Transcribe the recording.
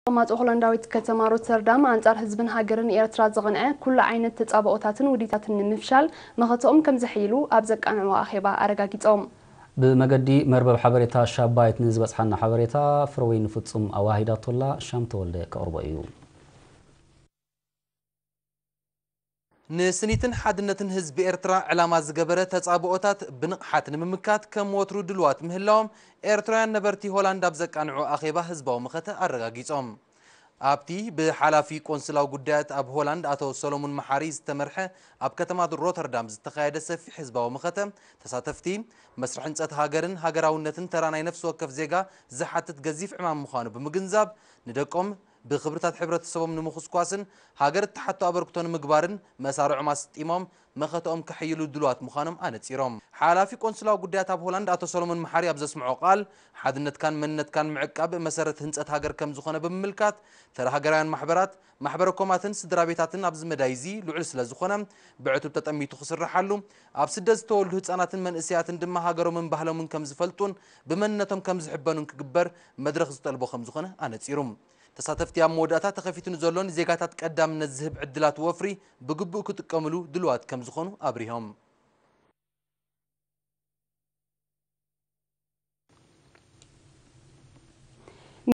ተቐማጦ ሆላንዳዊት ከተማ ሮተርዳም ኣንጻር ህዝብን ሃገርን ኤርትራ ዝቐንዐ ኩሉ ዓይነት ተጻብኦታትን ውዲታትን ንምፍሻል መኸተኦም ከም ዘሕይሉ ኣብ ዘቃንዕዎ ኣኼባ ኣረጋጊጾም። ብመገዲ መርበብ ሓበሬታ ሻባይት ንዝበጽሓና ሓበሬታ ፍረወይኒ ፍጹም ኣዋሂዳቶላ። ሻም ተወልደ ከቕርቦ እዩ። ንስኒትን ሓድነትን ህዝቢ ኤርትራ ዕላማ ዝገበረ ተጻብኦታት ብንቕሓት ንምምካት ከም ወትሩ ድልዋት ምህላዎም ኤርትራውያን ነበርቲ ሆላንድ ኣብ ዘቃንዑ ኣኼባ ህዝባዊ መኸተ ኣረጋጊጾም። ኣብቲ ብሓላፊ ቆንስላዊ ጉዳያት ኣብ ሆላንድ ኣቶ ሰሎሙን መሓሪ ዝተመርሐ ኣብ ከተማ ሮተርዳም ዝተኻየደ ሰፊሕ ህዝባዊ መኸተ ተሳተፍቲ መስርሕ ህንጸት ሃገርን ሃገራውነትን ተራ ናይ ነፍሲ ወከፍ ዜጋ ዝሓትት ገዚፍ ዕማም ምዃኑ ብምግንዛብ ንደቆም ብኽብርታት ሕብረተሰቦም ንምኹስኳስን ሃገር እትሓቶ ኣበርክቶ ንምግባርን መሳርዖም ኣስጢሞም መኸተኦም ከሕይሉ ድሉዋት ምዃኖም ኣነጺሮም። ሓላፊ ቆንስላዊ ጉዳያት ኣብ ሆላንድ ኣቶ ሰሎሞን መሓሪ ኣብ ዘስምዖ ቃል ሓድነትካን መንነትካን ምዕቃብ መሰረት ህንጸት ሃገር ከም ዝኾነ ብምምልካት ተራ ሃገራውያን ማሕበራት ማሕበረ ኮማትን ስድራ ቤታትን ኣብዚ መዳይ እዚ ልዑል ስለ ዝኾነ ብዕቱብ ተጠሚቱ ክስርሓሉ ኣብ ስደት ዝተወልዱ ህጻናትን መንእሰያትን ድማ ሃገሮምን ባህሎምን ከም ዝፈልጡን ብመንነቶም ከም ዝሕበኑን ክግበር መድረኽ ዝጠልቦ ከም ዝኾነ ኣነጺሩ። ተሳተፍቲ ኣብ መወዳእታ ተኸፊቱ ንዘሎ ንዜጋታት ቀዳምነት ዝህብ ዕድላት ወፍሪ ብግቡእ ክጥቀምሉ ድልዋት ከም ዝኾኑ ኣብሪሆም።